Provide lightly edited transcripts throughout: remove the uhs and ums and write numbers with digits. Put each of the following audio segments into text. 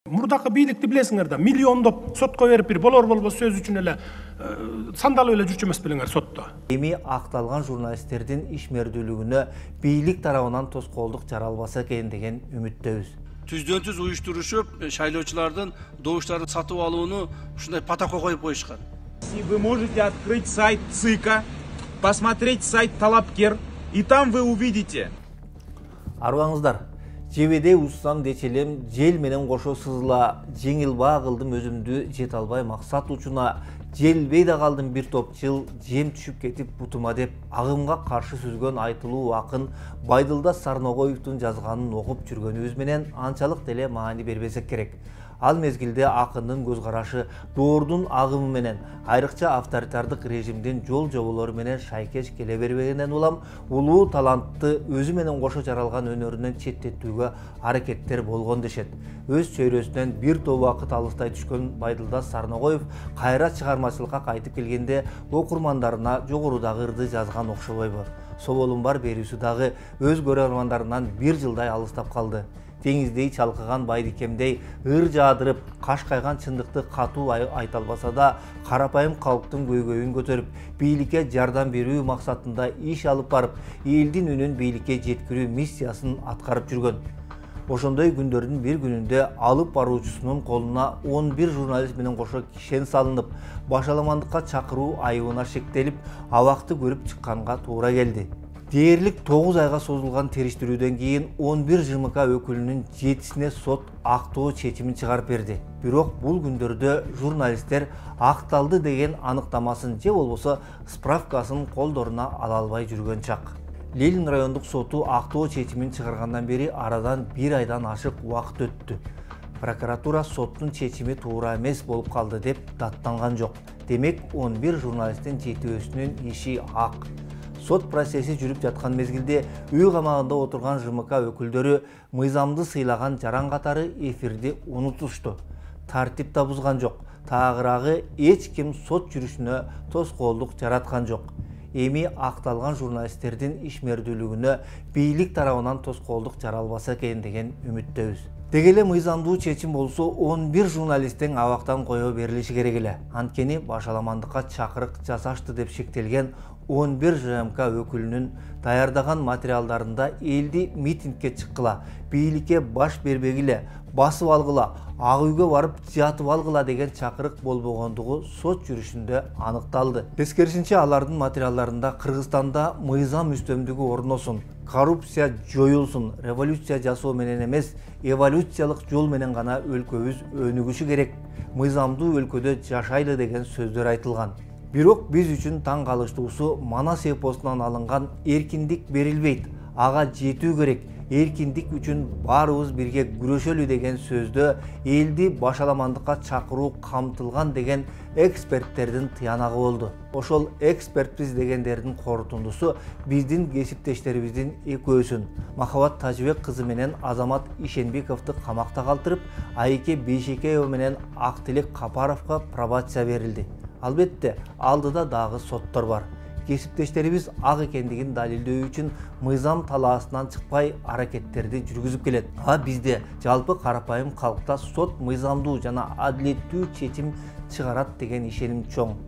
Мурдакы бийликти билесиңер да, миллиондоп сотко берип бир болор болбос сөз үчүн эле сандалып эле жүрчү эмес белеңер сотто. Эми акталган журналисттердин ишмердүүлүгүнө бийлик тарабынан тоскоолдук жаралбаса экен деген үмүттөбүз. Түздөн түз уюштурушуп, шайлоочулардын добуштарын сатып алууну ушундай протокол коюп коюшкан. Вы можете открыть сайт ЦИКа, посмотреть сайт Талапкер, и там вы увидите. Арбаңыздар, жебеде уссам дечелем, жел менен кошо сызыла, жеңил баа кылдым өзүмдү жете албай максат учуна, желбей да калдым бир топ жыл, жем түшүп кетип бутума деп, агымга каршы сүзгөн айтылуу акын Байдылда Сарногоевдун жазганын окуп жүргөнүбүз менен анчалык деле маани бербесек керек. Ал мезгилде акындын көз карашы доордун агымы менен, айрыкча авторитардык режимдин жол жоболору менен шайкеш келе бербегенен улам, улуу талантты өзү менен кошо жаралган өнөрүнөн четтетүүгө аракеттер болгон дешет. Өз чөйрөсүнөн бир топ убакыт алыстай түшкөн Байдылда Сарногоев кайра чыгармачылыкка кайтып келгенде окурмандарына жогорудагы ырды жазган окшобойбу. Соболум бар берүүсү дагы өз көрөрмандарынан бир жылдай алыстап калды. Деңиздей чалкыган байдикемдей ыр жаадырып, кашкайган чындыкты катуу айта албаса да, карапайым калктын көйгөйүн көтөрүп, бийликке жардам берүү максатында иш алып барып, элдин үнүн бийликке жеткирүү миссиясын аткарып жүргөн. Ошондой күндөрдүн бир күнүндө алып баруучусунун колуна 11 журналист менен кошо кишен салынып, башаламандыкка чакыруу айыбына шектелип, абакты көрүп чыкканга туура келди. Дээрлик 9 айга созулган териштирүүдөн кийин 11 ЖМК өкүлүнүн 7-сине сот актоо чечимин чыгарып берди. Бирок бул күндөрдө журналисттер акталды деген аныктамасын же болбосо справкасын колдоруна ала албай жүргөн чак. Ленин райондук соту актоо чечимин чыгаргандан бери арадан 1 айдан ашык убакыт өттү. Прокуратура соттун чечими туура эмес болуп калды деп даттанган жок. Демек 11 журналисттин жетөөсүнүн иши ак. Сот процесси жүрүп жаткан мезгилде үй камагында отурган ЖМК өкүлдөрү мыйзамды сыйлаган жаран катары эфирди унутушту. Тартип да бузган жок. Таагыраагы эч ким сот жүрүшүнө тоскоолдук жараткан жок. Эми акталган журналисттердин ишмердүүлүгүнө бийлик тарабынан тоскоолдук жаралбаса экен деген үмүттөбүз. Деги эле мыйзамдуу чечим болсо 11 журналисттин абактан кое берилиши керек эле. Анткени башаламандыкка чакырык жасашты деп шектелген 11 ЖМК өкүлүнүн даярдаган материалдарында элди митингге чыккыла, бийликке баш бербегиле, басып алгыла, ак үйгө барып жатып алгыла деген чакырык болбогондугу сот жүрүшүндө аныкталды. Тескерисинче алардын материалдарында Кыргызстанда мыйзам үстөмдүгү орносун, коррупция жоюлсун, революция жасоо менен эмес, эволюциялык жол менен гана өлкөбүз өнүгүшү керек, мыйзамдуу өлкөдө жашайлы деген сөздөр айтылган. Бирок биз үчүн таң калыштуусу Манас эпосунан алынган эркиндик берилбейт, ага жетүү керек, эркиндик үчүн баарыбыз бирге күрөшөлү деген сөздө элди башаламандыкка чакыруу камтылган деген эксперттердин тыянагы болду. Ошол экспертпиз дегендердин корутундусу биздин кесиптештерибиздин экөөсүн, Махабат Тажыбек кызы менен Азамат Ишенбековду камакта калтырып, Айке Бейшекеева менен Актилек Капаровго пробация берилди. Албетте, алдыда дагы соттор бар. Кесиптештерибиз ак экендигин далилдөө үчүн мыйзам талаасынан чыкпай аракеттерди жүргүзүп келет. А бизде жалпы карапайым калкта сот мыйзамдуу жана адилеттүү чечим чыгарат деген ишеним чоң.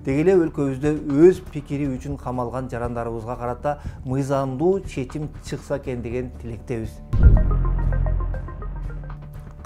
Деги эле өлкөбүздө өз пикири үчүн камалган жарандарыбызга карата мыйзамдуу чечим чыкса экен деген тилектебиз.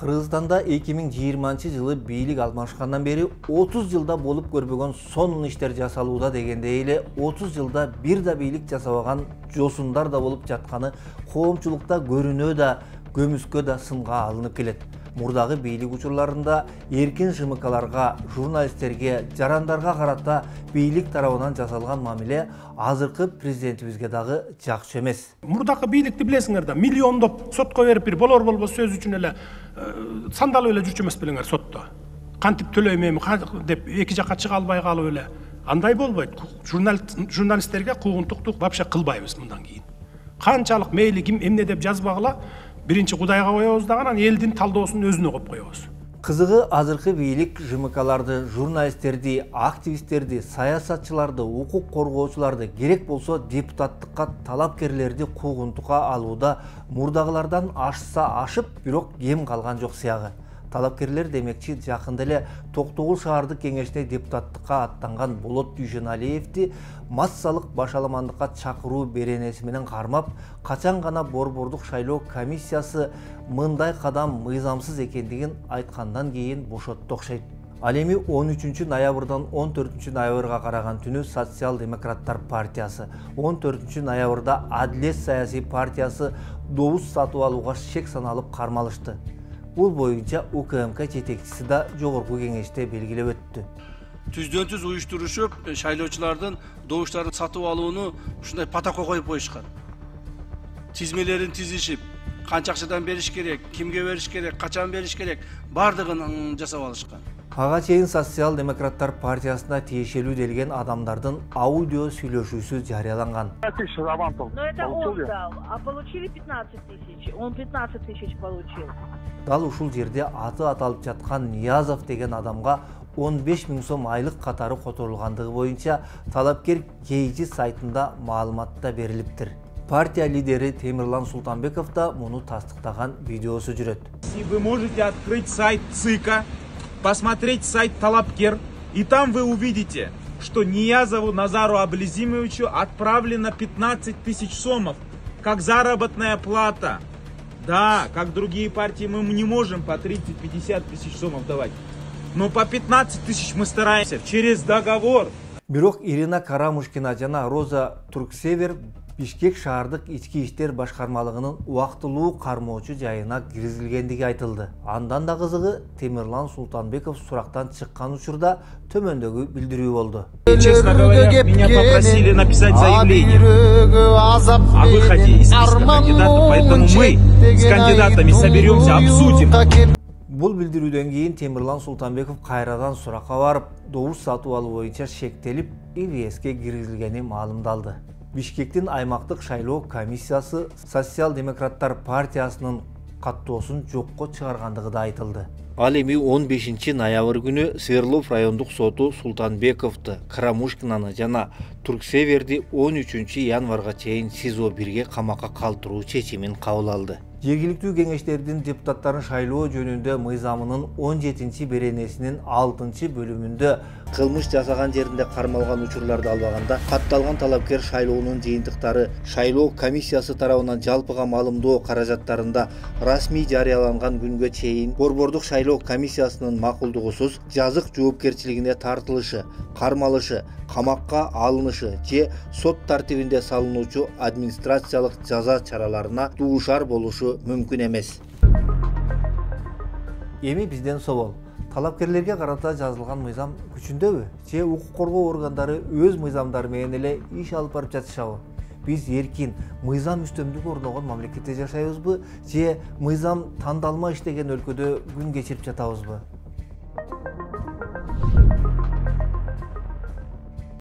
Кыргызстанда 2020 жылы бийлик алмашкандан бери 30 жылда болуп көрбөгөн сонун иштер жасалууда дегендей эле 30 жылда бир да бийлик жасабаган жосундар да болуп жатканы коомчулукта көрүнөө да, көмүскө да сынга алынып келет. Мурдагы бийлик учурларында эркин ЖМКларга, журналисттерге, жарандарга карата бийлик тарабынан жасалган мамиле азыркы президентибизге дагы жакшы эмес. Мурдакы бийликти билесиңер да, миллиондоп сотко берип бир болор болбос сөз үчүн эле сандалып эле жүрчү эмес белеңер сотто. Кантип төлөйм эми деп эки жакка чыга албай калып эле. Андай болбойт. Журналисттерге куугунтукту вообще кылбайбыз мындан кийин. Канчалык мейли ким эмне деп жазбагыла, биринчи Кудайга коебуз дагы, анан элдин талдоосун өзүнө коюп коебуз. Кызыгы азыркы бийлик ЖМКларды, журналисттерди, активисттерди, саясатчыларды, укук коргоочуларды, керек болсо депутаттыкка талапкерлерди куугунтукка алууда мурдагылардан ашса ашып, бирок кем калган жок сыягы. Талапкерлер демекчи жакында эле Токтогул шаардык кеңешине депутаттыкка аттанган Болот Дүйшеналиевди массалык башаламандыкка чакыруу беренеси менен кармап, качан гана Борбордук шайлоо комиссиясы мындай кадам мыйзамсыз экендигин айткандан кийин бошотту окшойт. Ал эми 13 ноябрдан 14 ноябрга караган түнү Социал-демократтар партиясы, 14 ноябрда Адилет саясий партиясы добуз сатып алууга шек саналып кармалышты. Бул боюнча УКМК жетекчиси да жогорку кеңеште белгилеп өттү. Түздөн түз уюштурушуп, шайлоочулардын добуштарын сатып алууну ушундай протокол коюп коюшкан. Тизмелерин тизишип, канча акчадан бериш керек, кимге бериш керек, качан бериш керек, бардыгын жасап алышкан. Ага чейин Социал-демократтар партиясына тиешелүү делген адамдардын аудио сүйлөшүүсү жарыяланган. Но это он дал, а получили 15 тысяч. Он 15 тысяч получил. Дал ушул жерде аты аталып жаткан Ниязов деген адамга 15 000 сом айлык катары которулгандыгы боюнча талапкер KG сайтында маалыматта берилиптир. Партия лидери Темирлан Султанбеков да муну тастыктаган видеосу жүрөт. Вы можете открыть сайт ЦИКа, посмотреть сайт Талапкер, и там вы увидите, что Ниязову Назару Аблизимовичу отправлено 15 тысяч сомов, как заработная плата. Да, как другие партии мы не можем по 30-50 тысяч сомов давать, но по 15 тысяч мы стараемся через договор. Бирок Ирина Карамушкина жана Роза Турксевер Бишкек шаардык ички иштер башкармалыгынын убактылуу кармоочу жайына киргизилгендиги айтылды. Андан да кызыгы Темирлан Султанбеков сурактан чыккан учурда төмөндөгү билдирүү болду. Честно говоря, меня попросили написать заявление о выходе из списка кандидатов, поэтому мы с кандидатами соберемся, обсудим. Бул билдирүүдөн кийин Темирлан Султанбеков кайрадан суракка барып, добуш сатып алуу боюнча шектелип, ИВСке киргизилгени маалымдалды. Бишкектин аймактык шайлоо комиссиясы Социал-демократтар партиясынын каттоосун жокко чыгаргандыгы да айтылды. Ал эми 15 ноябрь күнү Свердлов райондук соту Султанбековду, Карамушкинаны жана Турксеверди 13 январга чейин СИЗО 1ге камакка калтыруу чечимин кабыл алды. Жергиликтүү кеңештердин депутаттарын шайлоо жөнүндө мыйзамынын 17 беренесинин 6 бөлүмүндө кылмыш жасаган жеринде кармалган учурларды албаганда катталган талапкер шайлоонун жыйынтыктары шайлоо комиссиясы тарабынан жалпыга маалымдоо каражаттарында расмий жарыяланган күнгө чейин Борбордук шайлоо комиссиясынын макулдугусуз жазык жоопкерчилигине тартылышы, кармалышы, камакка алынышы же сот тартибинде салынуучу администрациялык жаза чараларына дуушар болушу мүмкүн эмес. Эми бизден собол. Талапкерлерге карата жазылган мыйзам күчүндөбү? Же укук коргоо органдары өз мыйзамдары менен эле иш алып барып жатышабы? Биз эркин мыйзам үстөмдүк орногон мамлекетте жашайбызбы? Же мыйзам тандалма иштеген өлкөдө күн кечирип жатабызбы?